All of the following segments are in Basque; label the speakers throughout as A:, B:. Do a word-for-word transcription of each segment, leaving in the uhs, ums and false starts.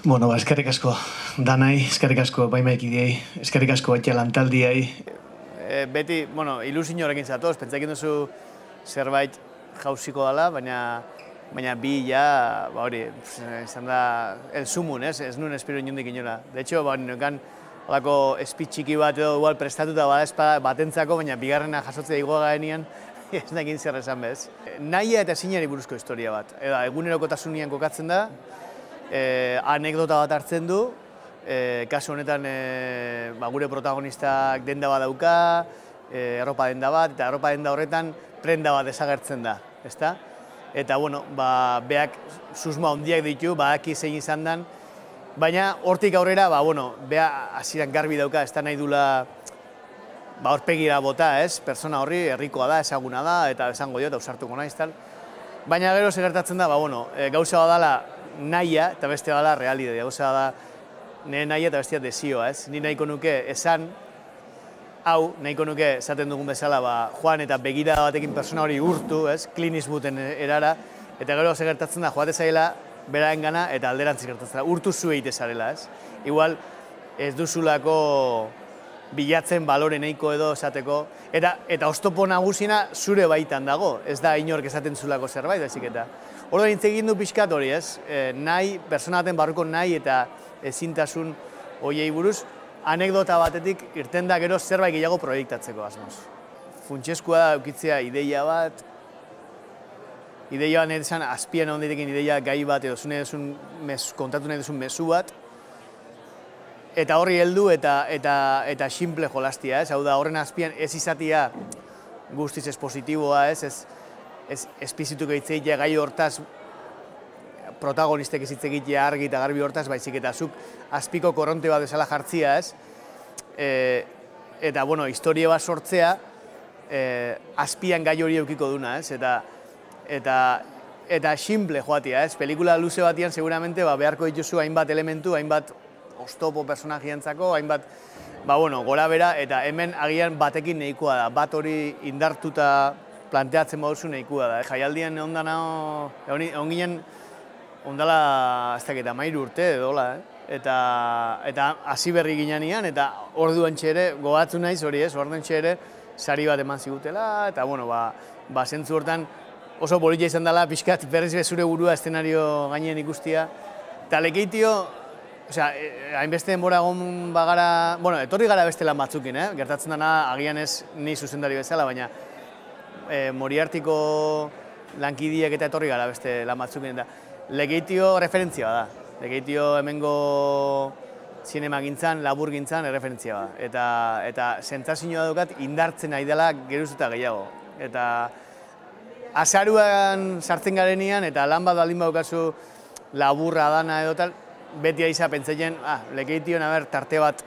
A: Bueno, ba, eskerrik asko danai, eskerrik asko baimaikidiei, eskerrik asko baita lantaldiai.
B: E, beti, bueno, ilusioarekin zatoz, pentsatzen duzu zerbait jauziko dela, baina baina bi ja, ba hori, izan da el sumun, ez? Ez nuen espero inondik inola. De hecho, ba, nekan holako speech txiki bat edo igual prestatuta bada espada batentzako, baina bigarrena jasotzea igoa garenean, ez nekin zer esan bez. Nahia eta ezinari buruzko historia bat. Eda, egunerokotasunean kokatzen da, e, anekdota bat hartzen du, e, kasu honetan e, ba, gure protagonistak denda bat dauka, e, arropa denda bat, eta arropa denda horretan prenda bat desagertzen da, ezta? Eta, bueno, ba, beak susma handiak ditu, badaki zein izan dan, baina hortik aurrera, ba, bueno, bea hasieran garbi dauka, ez da nahi dula ba, horpegira bota, ez? Persona horri herrikoa da, ezaguna da, eta esango dio, eta usartuko naiz, tal. Baina gero segertatzen da, ba, bueno, e, gauza badala nahia, eta beste badala realidea, gauza da nire nahia eta bestia desioa, ez? Ni nahiko nuke esan, hau, nahiko nuke esaten dugun bezala, ba, joan eta begira batekin persona hori urtu, ez? Clint Eastwooden erara, eta gero segertatzen da, joate zaila, beraren gana, eta alderantzik gertatzen da, urtu zu egite zarela, ez? Igual, ez duzulako bilatzen balore nahiko edo esateko, eta, eta oztopo nagusina zure baitan dago, ez da inork esaten zulako zerbait, ezik eta. Orduan hitz egin du pixkat hori, ez? E, nahi, persona baten barruko nahi eta ezintasun hoiei buruz, anekdota batetik irten da gero zerbait gehiago proiektatzeko asmoz. Funtsezkoa da eukitzea ideia bat, ideia bat nahi desan azpian egon daitekin ideia gai bat edo zune duzun kontatu nahi duzun mezu bat, eta horri heldu eta eta eta simple jolastia, ez? Hau da, horren azpian ez izatia guztiz espositiboa, ez? Ez, ez espizituko hitz egitea gai hortaz protagonistek ez hitz egitea argi eta garbi hortaz, baizik eta zuk azpiko korronte bat bezala jartzia, ez? E, eta, bueno, historia bat sortzea, e, azpian gai hori eukiko duna, ez? Eta, eta, eta simple joatia, ez? Pelikula luze batian seguramente ba, beharko dituzu hainbat elementu, hainbat oztopo personajientzako, hainbat, ba, bueno, gora bera, eta hemen agian batekin nahikoa da, bat hori indartuta planteatzen baduzu nahikoa da. Jaialdian egon dana, egon ginen, ondala, ez dakit, amairu urte edola, eh? Eta, eta hasi berri ginean, eta orduan txere, gogatzu naiz hori ez, orduan txere, sari bat eman zigutela, eta, bueno, ba, ba zentzu hortan oso politia izan dela, pixkat berriz bezure burua eszenario gainean ikustia, eta lekeitio, osea, hainbeste denbora egon bagara, bueno, etorri gara beste lan batzukin, eh? Gertatzen dena, agian ez ni zuzendari bezala, baina e, Moriartiko lankidiek eta etorri gara beste lan batzukin, eta Lekeitio referentzia da. Lekeitio hemengo zinema gintzan, labur gintzan referentzia da. Eta, eta sentsazioa daukat indartzen ari dela geruz eta gehiago. Eta azaruan sartzen garenean eta lan bat baldin badaukazu laburra dana edo tal, beti aiza pentsatzen, ah, Lekeition aber tarte bat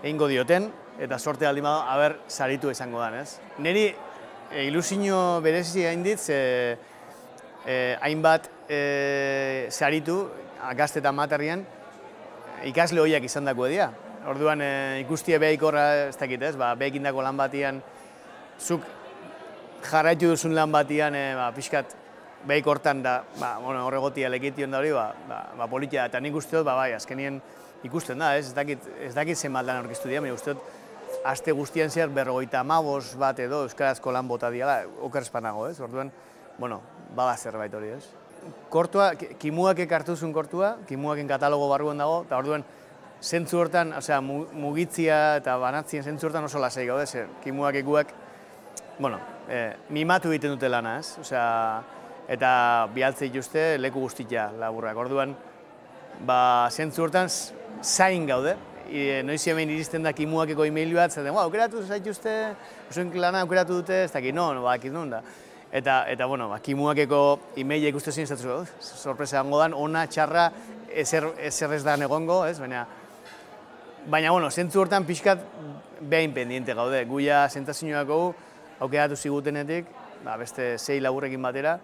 B: egingo dioten, eta sorte baldin badago, aber saritu izango dan, ez? Neri e, ilusio berezi hain dit, ze, e, hainbat e, saritu, gazte eta materrian, ikasle horiak izan dako edia. Orduan e, ikustie behaik horra, ez dakit ez, ba, behik indako lan batian, zuk jarraitu duzun lan batian, e, ba, pixkat, behik hortan da, ba, bueno, horregotia Lekeition da hori, ba, ba, ba politia, eta nik uste dut, ba, bai, azkenien ikusten da, ez, ez dakit, ez dakit zenbat lan aurkeztu dira, baina uste dut, aste guztian zehar berrogeita hamabost bat edo euskarazko lan bota diala, oker espanago, ez, orduan, bueno, bada zerbait hori, ez. Kortua, Kimuak ekartu zuen kortua, Kimuaken katalogo barruan dago, eta orduan, zentzu hortan, osea, mugitzia eta banatzien zentzu hortan oso lasai gaude, zer, Kimuak ekuak, bueno, eh, mimatu egiten dute lana, ez, osea, eta bialtze dituzte leku guztia laburrak. Orduan, ba, zentzu hortan zain gaude, e, noiz hemen iristen da Kimuakeko e-mail bat, zaten, ba, aukeratu zaituzte, osoen lana aukeratu dute, ez dakit, no, no, ba, akit nun da. Eta, eta, bueno, ba, Kimuakeko e-maila ikustu zin, ez dut, sorpresa gango dan, ona, txarra, ezer, ezer ez da egongo, ez, baina, baina, bueno, zentzu hortan pixkat behin pendiente gaude, guia sentazioak hau, aukeratu zigutenetik, ba, beste sei laburrekin batera,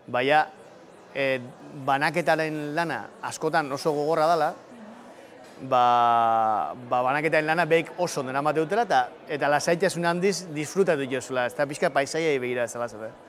B: baina, e, banaketaren lana askotan oso gogorra dela, ba, ba banaketaren lana behik oso dena mate dutela, eta, eta lasaitasun handiz disfrutatu jozula, ez da pixka paisaiai begira ez alazate.